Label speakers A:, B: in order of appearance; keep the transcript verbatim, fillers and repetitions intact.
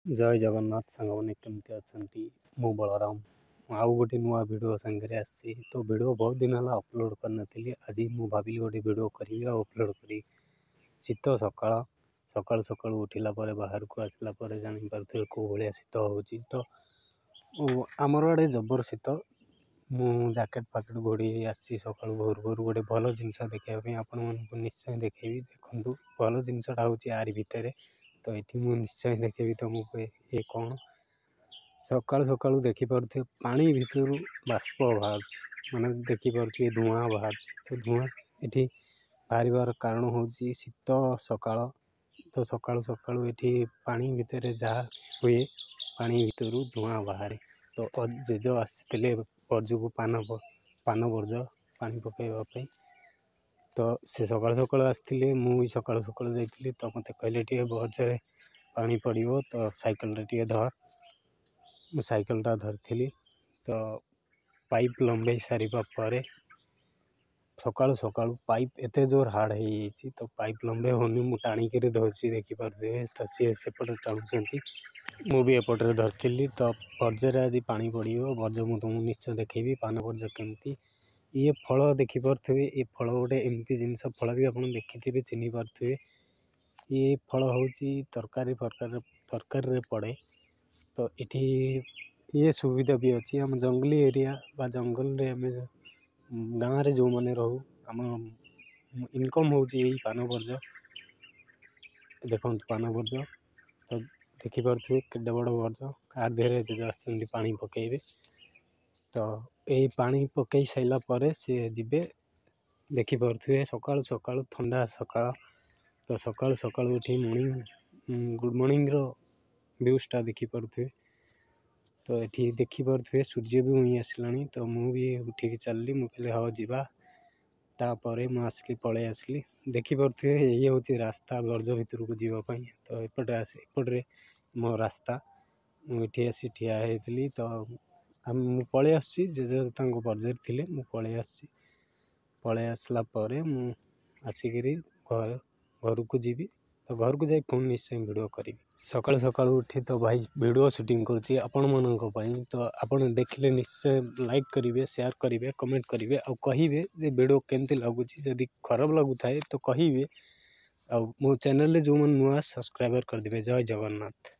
A: ଜୟ ଜଗନ୍ନାଥ ସାଙ୍ଗମାନେ, କେମିତି ଅଛନ୍ତି? ମୁଁ ବଳରାମ, ଆଉ ଗୋଟେ ନୂଆ ଭିଡ଼ିଓ ସାଙ୍ଗରେ ଆସିଛି। ତ ଭିଡ଼ିଓ ବହୁତ ଦିନ ହେଲା ଅପଲୋଡ଼ କରିନଥିଲି। ଆଜି ମୁଁ ଭାବିଲି ଗୋଟେ ଭିଡ଼ିଓ କରିବି ଆଉ ଅପଲୋଡ଼ କରିବି। ଶୀତ ସକାଳ, ସକାଳୁ ସକାଳୁ ଉଠିଲା ପରେ ବାହାରକୁ ଆସିଲା ପରେ ଜାଣିପାରୁଥିବେ କେଉଁ ଭଳିଆ ଶୀତ ହେଉଛି। ତ ଆମର ଆଡ଼େ ଜବର ଶୀତ। ମୁଁ ଜ୍ୟାକେଟ୍ ଫାକେଟ୍ ଘୋଡ଼େଇ ହେଇ ଆସିଛି ସକାଳୁ ଭୋରୁ ଭୋରୁ ଗୋଟେ ଭଲ ଜିନିଷ ଦେଖିବା ପାଇଁ। ଆପଣମାନଙ୍କୁ ନିଶ୍ଚୟ ଦେଖେଇବି, ଦେଖନ୍ତୁ। ଭଲ ଜିନିଷଟା ହେଉଛି ୟାରି ଭିତରେ। ତ ଏଠି ମୁଁ ନିଶ୍ଚୟ ଦେଖେଇବି ତୁମକୁ ଏ କ'ଣ। ସକାଳୁ ସକାଳୁ ଦେଖିପାରୁଥିବେ ପାଣି ଭିତରୁ ବାଷ୍ପ ବାହାରୁଛି, ମାନେ ଦେଖିପାରୁଥିବେ ଧୂଆଁ ବାହାରୁଛି। ତ ଧୂଆଁ ଏଠି ବାହାରିବାର କାରଣ ହେଉଛି ଶୀତ ସକାଳ। ତ ସକାଳୁ ସକାଳୁ ଏଠି ପାଣି ଭିତରେ ଯାହା ହୁଏ, ପାଣି ଭିତରୁ ଧୂଆଁ ବାହାରେ। ତ ଜେଜ ଆସିଥିଲେ ବର୍ଜକୁ, ପାନ ପାନ ବର୍ଜ ପାଣି ପକାଇବା ପାଇଁ। ତ ସେ ସକାଳୁ ସକାଳୁ ଆସିଥିଲେ, ମୁଁ ବି ସକାଳୁ ସକାଳୁ ଯାଇଥିଲି। ତ ମୋତେ କହିଲେ ଟିକେ ବର୍ଜରେ ପାଣି ପଡ଼ିବ, ତ ସାଇକେଲଟା ଟିକେ ଧର। ମୁଁ ସାଇକେଲଟା ଧରିଥିଲି। ତ ପାଇପ୍ ଲମ୍ବେଇ ସାରିବା ପରେ ସକାଳୁ ସକାଳୁ ପାଇପ୍ ଏତେ ଜୋର ହାର୍ଡ଼ ହେଇଯାଇଛି, ତ ପାଇପ୍ ଲମ୍ବେଇ ହେଉନି। ମୁଁ ଟାଣିକିରି ଧରୁଛି, ଦେଖିପାରୁଥିବେ। ତ ସିଏ ସେପଟେ ଟାଣୁଛନ୍ତି, ମୁଁ ବି ଏପଟରେ ଧରିଥିଲି। ତ ବର୍ଜରେ ଆଜି ପାଣି ପଡ଼ିବ। ବର୍ଜ ମୁଁ ତୁମକୁ ନିଶ୍ଚୟ ଦେଖେଇବି, ପାନ ବର୍ଜ କେମିତି। ଇଏ ଫଳ ଦେଖିପାରୁଥିବେ, ଏ ଫଳ ଗୋଟେ ଏମିତି ଜିନିଷ, ଫଳ ବି ଆପଣ ଦେଖିଥିବେ, ଚିହ୍ନି ପାରୁଥିବେ। ଇଏ ଫଳ ହେଉଛି ତରକାରୀ ଫରକାରୀ ତରକାରୀରେ ପଡ଼େ। ତ ଏଠି ଇଏ ସୁବିଧା ବି ଅଛି। ଆମ ଜଙ୍ଗଲି ଏରିଆ ବା ଜଙ୍ଗଲରେ ଆମେ ଗାଁରେ ଯେଉଁମାନେ ରହୁ, ଆମ ଇନକମ୍ ହେଉଛି ଏଇ ପାନ ବର୍ଜ। ଦେଖନ୍ତୁ ପାନ ବର୍ଜ ତ ଦେଖିପାରୁଥିବେ କେଡ଼େ ବଡ଼ ବର୍ଜ। ଆ ଦେହରେ ଜେଜ ଆସିଛନ୍ତି ପାଣି ପକାଇବେ। ତ ଏଇ ପାଣି ପକାଇ ସାରିଲା ପରେ ସିଏ ଯିବେ। ଦେଖିପାରୁଥିବେ ସକାଳୁ ସକାଳୁ ଥଣ୍ଡା ସକାଳ। ତ ସକାଳୁ ସକାଳୁ ଉଠି ମର୍ଣ୍ଣିଂ ଗୁଡ଼୍ ମର୍ଣ୍ଣିଂର ଭ୍ୟୁଜ୍ଟା ଦେଖିପାରୁଥିବେ। ତ ଏଠି ଦେଖିପାରୁଥିବେ ସୂର୍ଯ୍ୟ ବି ଉଇଁ ଆସିଲାଣି। ତ ମୁଁ ବି ଉଠିକି ଚାଲିଲି। ମୁଁ କହିଲି ହଉ ଯିବା। ତାପରେ ମୁଁ ଆସିଲି, ପଳେଇ ଆସିଲି। ଦେଖିପାରୁଥିବେ ଇଏ ହେଉଛି ରାସ୍ତା ବର୍ଜ ଭିତରକୁ ଯିବା ପାଇଁ। ତ ଏପଟେ ଆସି ଏପଟରେ ମୋ ରାସ୍ତା। ମୁଁ ଏଠି ଆସି ଠିଆ ହେଇଥିଲି। ତ ମୁଁ ପଳେଇ ଆସୁଛି, ଜେଜେ ତାଙ୍କ ବର୍ଜରେ ଥିଲେ, ମୁଁ ପଳେଇ ଆସୁଛି। ପଳେଇ ଆସିଲା ପରେ ମୁଁ ଆସିକିରି ଘରେ ଘରକୁ ଯିବି। ତ ଘରକୁ ଯାଇ ପୁଣି ନିଶ୍ଚୟ ଭିଡ଼ିଓ କରିବି। ସକାଳୁ ସକାଳୁ ଉଠି ତ ଭାଇ ଭିଡ଼ିଓ ସୁଟିଂ କରୁଛି ଆପଣମାନଙ୍କ ପାଇଁ। ତ ଆପଣ ଦେଖିଲେ ନିଶ୍ଚୟ ଲାଇକ୍ କରିବେ, ସେୟାର କରିବେ, କମେଣ୍ଟ କରିବେ ଆଉ କହିବେ ଯେ ଭିଡ଼ିଓ କେମିତି ଲାଗୁଛି। ଯଦି ଖରାପ ଲାଗୁଥାଏ ତ କହିବେ। ଆଉ ମୋ ଚ୍ୟାନେଲରେ ଯେଉଁମାନେ ନୂଆ, ସବସ୍କ୍ରାଇବର କରିଦେବେ। ଜୟ ଜଗନ୍ନାଥ।